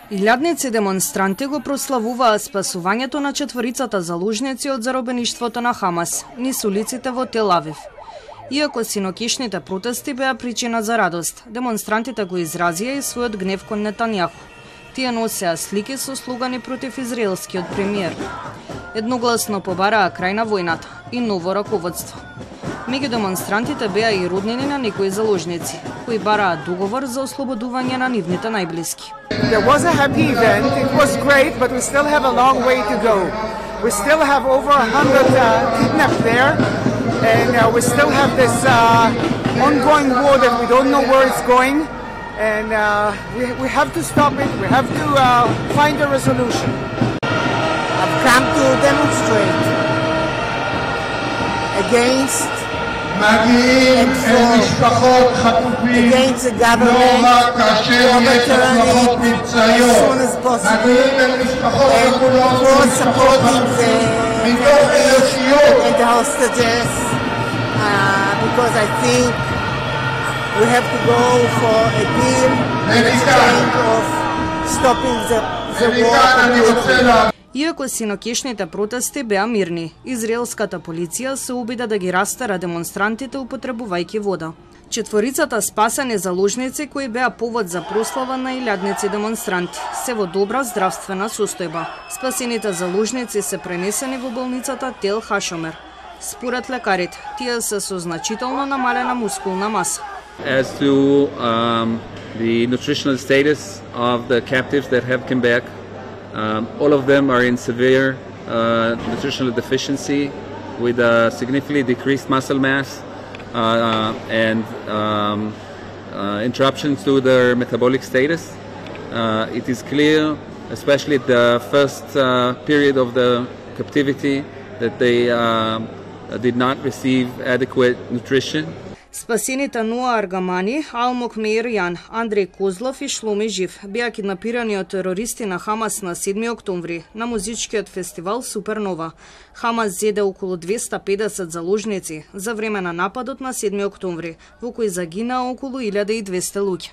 Илјадници демонстранти го прославуваа спасувањето на четворицата заложници од заробеништвото на Хамас низ улиците во Тел Авив. Иако синокишните протести беа причина за радост, демонстрантите го изразија и својот гнев кон Нетањаху. Тие носеа слики со слогани против израелскиот премиер. Едногласно побараа крај на војната и ново раководство. Меѓу демонстрантите беа и роднини на некои заложници, кои бараат договор за ослободување на нивните најблиски. There was a happy event. It was great, but we still have a long way to go. We still have over 100 kidnapped there, and we still have this ongoing war that we don't know where it's going, and we have to stop it. We have to find a resolution. I've come to demonstrate against against the government overturning as soon as possible and for supporting the hostages because I think we have to go for a deal in exchange of stopping the war. Иако синокишните протести беа мирни, израелската полиција се обида да ги растера демонстрантите употребувајќи вода. Четворицата спасени заложници кои беа повод за прослава на илјадници демонстранти се во добра здравствена состојба. Спасените заложници се пренесени во болницата Тел Хашомер. Според лекарите, тие се со значително намалена мускулна маса. As to the nutritional status of the captives that have come back, all of them are in severe nutritional deficiency with a significantly decreased muscle mass and interruptions to their metabolic status. It is clear, especially at the first period of the captivity, that they did not receive adequate nutrition. Спасените Ноа Аргамани, Алмок Меирјан, Андреј Козлов и Шломи Жив беа киднапирани од терористи на Хамас на 7 октомври на музичкиот фестивал Супернова. Хамас зеде околу 250 заложници за време на нападот на 7 октомври, во кој загинаа околу 1200 луѓе.